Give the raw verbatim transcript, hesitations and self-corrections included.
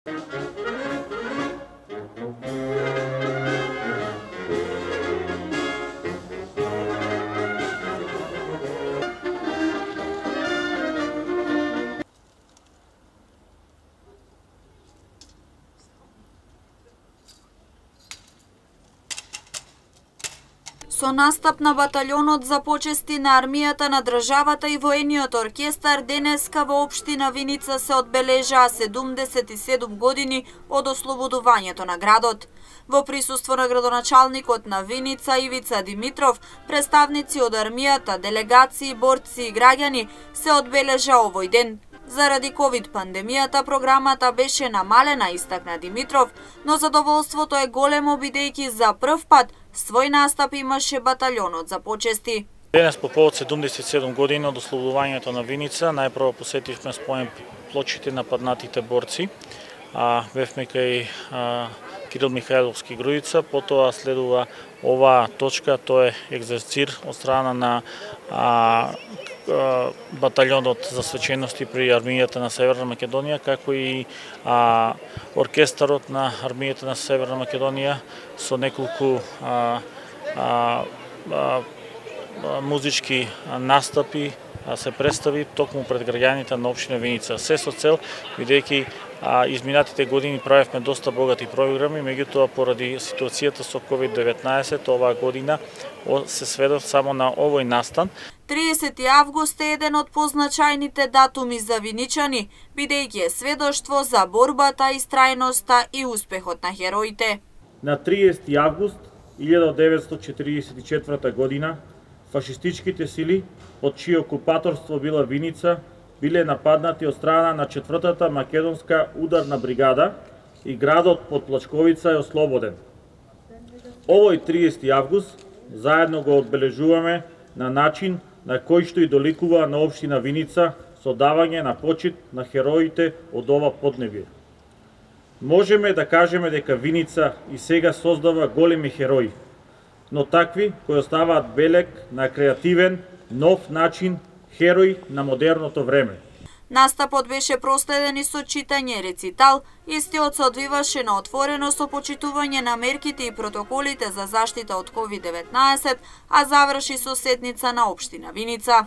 Со настап на баталјонот за почести на армијата на државата и воениот оркестар денеска во општина Виница се одбележаа седумдесет и седум години од ослободувањето на градот. Во присуство на градоначалникот на Виница Ивица Димитров, представници од армијата, делегации, борци и граѓани се одбележа овој ден. Заради ковид пандемијата програмата беше намалена, истакна Димитров, но задоволството е големо бидејќи за прв пат свој настап имаше баталјонот за почести. Денес по повод седумдесет и седум години од ослободувањето на Виница, најпрво посетивме спомен плочите на паднатите борци, а бевме кај а, Кирил Михајловски Грујица, потоа следува оваа точка, тоа е екзерцир од страна на а, баталјонот за свечености при армијата на Северна Македонија, како и а, оркестарот на армијата на Северна Македонија со неколку а, а, а, музички настапи се представи токму пред граѓаните на општина Виница. Се со цел, бидејќи изминатите години правевме доста богати програми, меѓутоа поради ситуацијата со ковид деветнаесет оваа година се сведов само на овој настан. триесети август е еден од позначајните датуми за виничани, бидејќи е сведоштво за борбата, истрајноста и успехот на хероите. На триесети август илјадесет деветстотини четиридесет и четврта година фашистичките сили, под чие окупаторство била Виница, биле нападнати од страна на четвртата македонска ударна бригада и градот под Плачковица е ослободен. Овој триесети август заедно го одбележуваме на начин на кој што и доликува на општина Виница со давање на почит на хероите од ова поднебие. Можеме да кажеме дека Виница и сега создава големи херои, но такви кои оставаат белег на креативен, нов начин херои на модерното време. Настапот беше проследен и со читање рецитал, истиот се одвиваше на отворено со почитување на мерките и протоколите за заштита од ковид деветнаесет, а заврши со седница на општина Виница.